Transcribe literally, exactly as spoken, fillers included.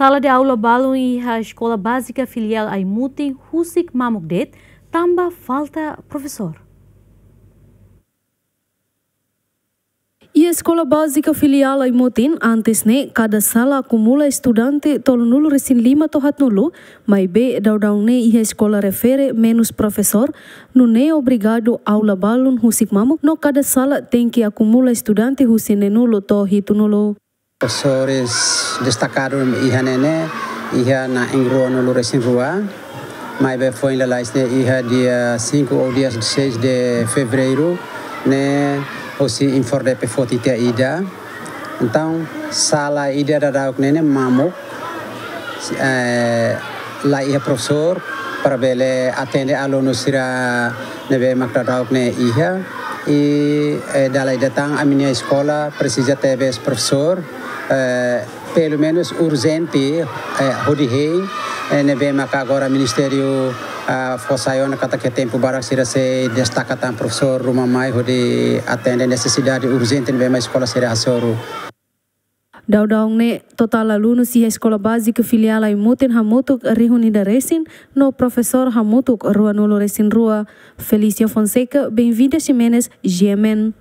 Sala de aula balun iha Eskola Bázika Filiál Aimutin husik mamuk de'it, tanba falta profesór. Iha Eskola Bázika Filiál Aimutin, antes ne'e, kada sala akumula estudante tolunulu-resin-lima to'o haatnulu, maibé daudaun ne'e iha eskola refere menus profesór, nune'e obrigadu aula balun husik mamuk, no kada sala tenke akumula estudante husi neenulu to'o hitunulu. Profesores destakadu iha ne'e ne'e, iha na'in ruanulu-resin-rua, maibé foin lalais ne'e iha dia cinco ou dia seis de fevereiro ne'e, hosi INFORDEPE foti tiha ida. Entaun, sala ida daudauk ne'e ne'e mamuk, eh, la iha profesór para bele atende alunu sira ne'ebé mak daudauk ne'e iha. I, eh, dala ida tan ami-nia eskola presiza tebes profesór, eh, pelumenus urjente, eh, hodi hein, eh, ne'ebé maka agora ministériu, ah, fó sai ona katak iha tempu badak sira sei destaka tan profesór ruma mai hodi atende nesesidade urjente ne'ebé mak eskola sira hasoru. Daudaun ne'e, totál alunus iha Eskola Bázika Filiál Aimutin hamutuk rihun ida resin, no profesór hamutuk ruanulu-resin-rua. Felícia Fonseca, Benvinda Ximenes, G M N.